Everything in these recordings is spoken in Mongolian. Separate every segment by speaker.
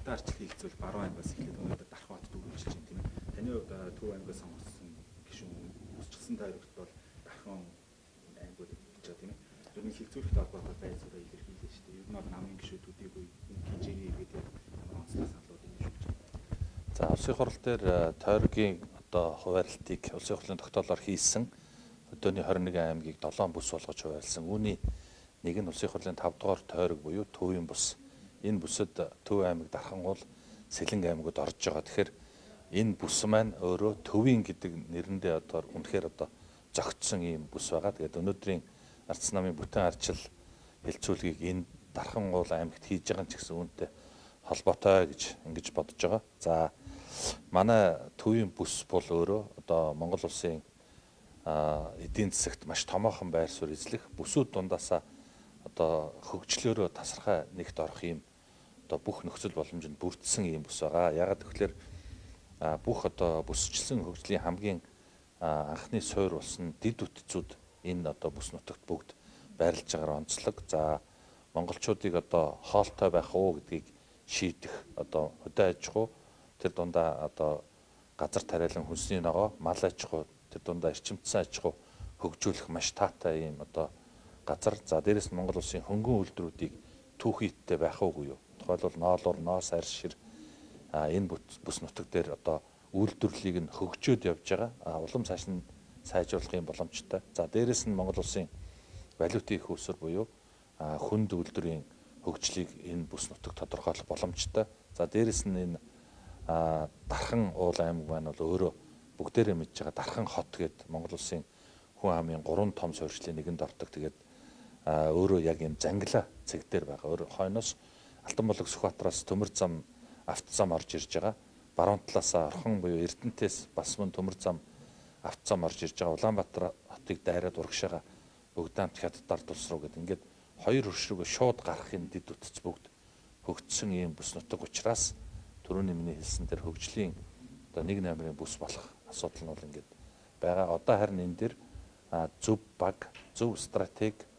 Speaker 1: хотын арчил хилцүүл баруун аймгаас эхлээд өнөөдөр Дархан хотод үргэлжилж байна тийм ээ. Таны хувьд Төв аймгаас сонгогдсон гишүүн өсчихсөн тойрогт бол Дархан аймгууд гэж байна тийм ээ. Ер нь хилцүүлэхтэй холбоотой байр суурь илэрхийлээ шүү дээ. Ер нь бол намын гишүүдүүдийг хинжээний иргэд ямар онцлог саналууд юм шүү дээ.
Speaker 2: За улсын хурал дээр тойргийн одоо хуваарлтыг улсын хурлын тогтоолоор хийсэн өдөөний 21 аймгийг 7 бүс болгож хуваарлсан. Үүний нэг нь улсын хурлын 5 дугаар тойрог буюу Төвийн бүс. Энэ бүсэд Төв аймаг Дархангуул, Сэлэнг аймагуд орж байгаа. Тэгэхээр энэ бүс маань өөрөө Төвийн гэдэг нэрэндээ одоо үнэхээр одоо зогтсон ийм бүс байгаа. Тэгээд өнөөдрийн Ардсан намын бүтэн арчил хэлцүүлгийг энэ Дархангуул аймагт хийж байгаа ч гэсэн үүнтэй холбоотой гэж ингэж бодож байгаа. За манай Төвийн бүс бол өөрөө одоо Монгол улсын эдийн засагт маш томоохон байр суурь эзлэх бүсүүд дундаасаа одоо хөгжлөөрөө тасархай нэгт орох юм одоо бүх нөхцөл боломжинд бүрдсэн юм бүс байгаа. Ягаад гэвэл бүх одоо бүсчлэн хөгжлийн хамгийн анхны суурь болсон дэд үтцүүд энэ одоо бүс нутагт бүгд байрлаж байгаагаар онцлог. За монголчуудыг одоо хоолтой байх уу гэдгийг шийдэх одоо хөдөө аж ахуй тэр дундаа одоо газар тариалан хүнсний ногоо, мал аж ахуй тэр дундаа эрчимцэн аж ахуй хөгжүүлэх маш таатай ийм одоо газар. За дээрэс нь Монгол улсын хөнгөн үйлдвэрүүдийг түүхийдтэй байх уугүй юу? Тухайлбал ноолуур, ноос, арьс шир энэ бүс нутаг дээр одоо үйлдвэрлэлийг нь хөгжөөд явж байгаа. Улам цааш нь сайжруулахын боломжтой. За дээрэс нь Монгол улсын валютын их өсвөр буюу хүнд үйлдвэрийн хөгжлийг энэ бүс нутаг тодорхойлох боломжтой. За дээрэс нь энэ Дархан уул аймаг маань бол өөрөө бүгдээрээ мэдж байгаа Дархан хот гэдэг Монгол улсын хүн амын 3 том суурьшлийн нэгэнд ордог. Тэгээд өөрөө яг юм зангила цэг дээр байгаа. Өөр хойноос Алтанболог Сүхбаатараас төмөр зам автозам орж ирж байгаа. Баруун талаасаа Орхон буюу Эрдэнэтээс бас мөн төмөр зам автозам орж ирж байгаа. Улаанбаатар хотыг дайраад урагшаага Бөгдаамт Хятад улс руу гэдэг. Ингээд хоёр хөрш рүүгээ шууд гарахын дэд үтц бүгд хөгжсөн ийм бүс нутаг учраас түрүүний миний хэлсэн тэр хөгжлийн одоо 1 номерын бүс болох асуудал нь бол ингээд байгаа. Одоо харин энэ дэр зөв баг, зөв стратеги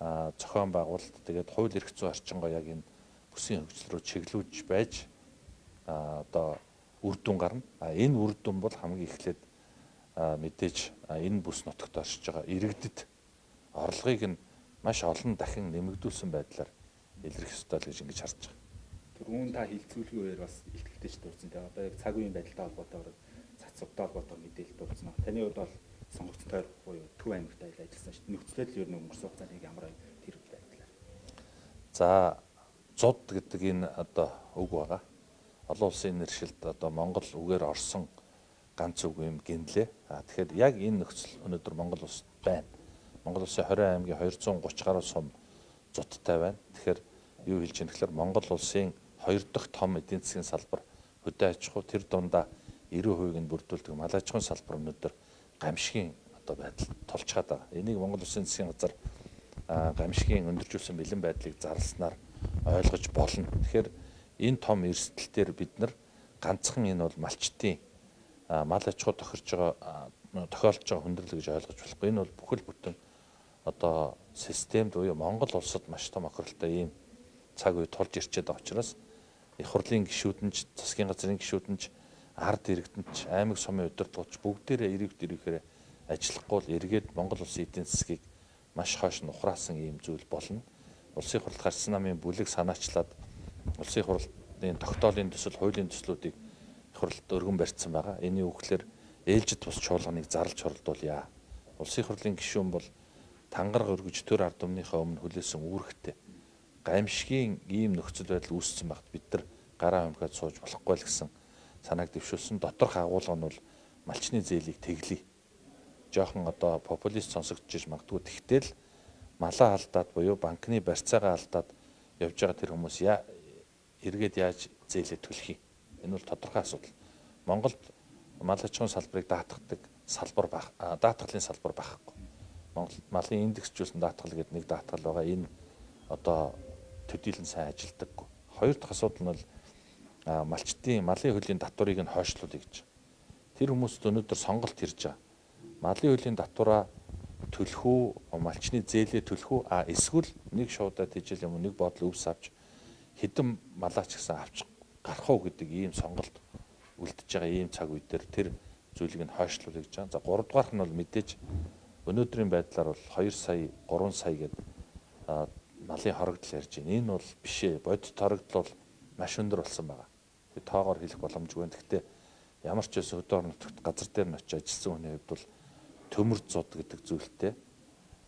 Speaker 2: зохион байгуулалт тэгээд хууль эрх зүйн орчингоо яг энэ бүсийн хөгжил рүү чиглүүлж байж одоо үр дүн гарна. Энэ үр дүн бол хамгийн эхлээд мэдээж энэ бүс нутагт оршиж байгаа иргэдэд орлогыг нь маш олон дахин нэмэгдүүлсэн байдлаар илэрхийлэх ёстой л гэж ингэж харж байгаа.
Speaker 1: Түрүүн та хилцүүлгийн үеэр бас ихтгэлтэй ч дурдсан. Тэгээ одоо яг цаг үеийн байдалтай холбоотойгоор цацвартай холбоотойгоор мэдээлэл дурдсан. Таны хувьд бол сонгогдсон тойрог буюу Төв аймагт ажилласан шүү дээ. Нөхцөлөд л ер нь өнгөрсөн хугацаанд ямар тэр байдлаар.
Speaker 2: За зуд гэдэг энэ одоо үг байгаа. Олон улсын нэршилд одоо Монгол үгээр орсон ганц үг юм гинлээ. Тэгэхээр яг энэ нөхцөл өнөөдөр Монгол улсад байна. Монгол улсын 20 аймгийн 230 гаруй сум зудтай байна. Тэгэхээр юу хэлж ийм тэгэхээр Монгол улсын 2 дахь том эдийн засгийн салбар хөдөө аж ахуй тэр дундаа 90% нь бүрдүүлдэг мал аж ахуйн салбар өнөөдөр гамшигын одоо байдал тулж чад байгаа. Энийг Монгол улсын засгийн газар гамшигын өндөржүүлсэн бэлэн байдлыг зарласнаар ойлгож болно. Тэгэхээр энэ том эрсдэл дээр бид нар ганцхан энэ бол малчтын мал аж ахуй тохирж тохиолж байгаа хүндрэл гэж ойлгож болохгүй. Энэ бол бүхэл бүтэн одоо системд буюу Монгол улсад маш том охиролтой ийм цаг үе тулж ирчээд байгаа учраас их хурлын гишүүд нь засгийн газрын гишүүд нь ард иргэдэд нь аймаг сумын удирдлагч бүгдээрээ иргэхээр ажиллахгүй л эргээд Монгол улсын эдийн засгийг маш хойш нь ухраасан ийм зүйл болно. Улсын хурлд Ардсан намын бүлэг санаачлаад улсын хурлын тогтоолын төсөл, хуулийн төслүүдийг их хурлд өргөн барьсан байгаа. Эний үгээр ээлжид бус чуулганыг зарлж хоролдуулъя. Улсын хурлын гишүүн бол тангараг өргөж төр ард түмнийхээ өмнө хүлээсэн үүрэгтэй гамшигын ийм нөхцөл байдал үүссэн багт бид нар гараа өмхөд сууж болохгүй л гэсэн санааг дэвшүүлсэн. Доторх агуулга нь бол малчны зээлийг тэглэе. Жохон одоо популист сонсогдож магадгүй. Тэгтэл малаа алдаад буюу банкны барьцаагаа алдаад явж байгаа тэр хүмүүс эргээд яаж зээлээ төлөх юм? Энэ бол тодорхой асуудал. Монголд мал аж ахуйн салбарыг даатгадаг салбар баг, даатгалын салбар байхгүй. Монголд малын индексжүүлсэн даатгал гэдэг нэг даатгал байгаа. Энэ одоо төдийлөн сайн ажилдаггүй. Хоёр дахь асуудал нь бол малчтын малын хөлийн татварыг нь хойшлуулъя гэж. Тэр хүмүүст өнөөдөр сонголт ирж байгаа. Малын хөлийн татвараа төлөх үү, малчны зээлээ төлөх үү, эсвэл нэг шуудаа тийжэл юм нэг бодол өвс авч хэдэн малаач гэсэн авч гарах уу гэдэг ийм сонголт үлдэж байгаа ийм цаг үе дээр тэр зүйлийг нь хойшлуулъя гэж байна. За 3 дугаарх нь бол мэдээж өнөөдрийн байдлаар бол 2 сая 3 сая гэдэг малын хорогдол ярьж байна. Энэ бол биш ээ. Бодит хорогдол бол маш өндөр болсон байгаа. Би тоогоор хэлэх боломжгүй байна. Гэхдээ ямар ч байсан хөдөө орон нутагт газар дээр нь очиж ажилласан хүний хувьд бол төмөр зууд гэдэг зүйлтэй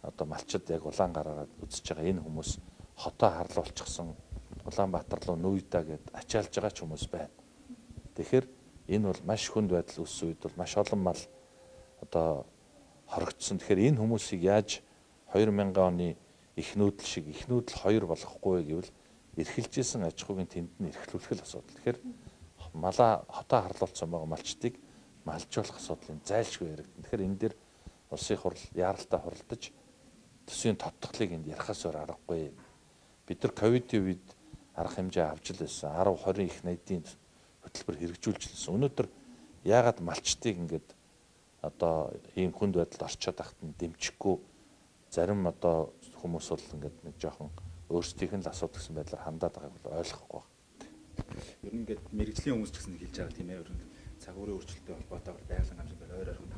Speaker 2: одоо малчид яг улаан гараад үзэж байгаа энэ хүмүүс хотоо харлуулчихсан Улаанбаатар руу нүүйдаа гэд ачаалж байгаа ч хүмүүс байна. Тэгэхээр энэ бол маш хүнд байдал үүссэн үед бол маш олон мал одоо хорогдсон. Тэгэхээр энэ хүмүүсийг яаж 2000 оны их нүүдэл шиг их нүүдэл 2 болохгүй гэвэл эрхэлжсэн аж ахуйн тэнд нь эрхлүүлэх асуудал. Тэгэхээр малаа хотоо харлуулсан байгаа малчдыг малжуулах асуудлын зайлшгүй яригдана. Тэгэхээр энэ дээр улсын хурал яаралтай хуралдаж төсвийн тодтголыг энд ярахаас өөр аргагүй. Бид нар ковидын үед арга хэмжээ авч л байсан. 10 20 их найдын хөтөлбөр хэрэгжүүлж лсэн. Өнөөдөр яагаад малчдыг ингээд одоо ийм хүнд байдалд орчоод тахт нь дэмжихгүй зарим одоо хүмүүс бол ингээд нэг жоохон өөрсдийнх нь л асуудал гэсэн байдлаар хандаад байгааг бол ойлгохгүй байна.
Speaker 1: Ер нь ингээд мэрэгжлийн хүмүүс ч гэсэн хэлж байгаа тийм ээ. Ер нь цагуурын өөрчлөлттэй холбоотойгоор байгалийн гамшиг ойр ойрхон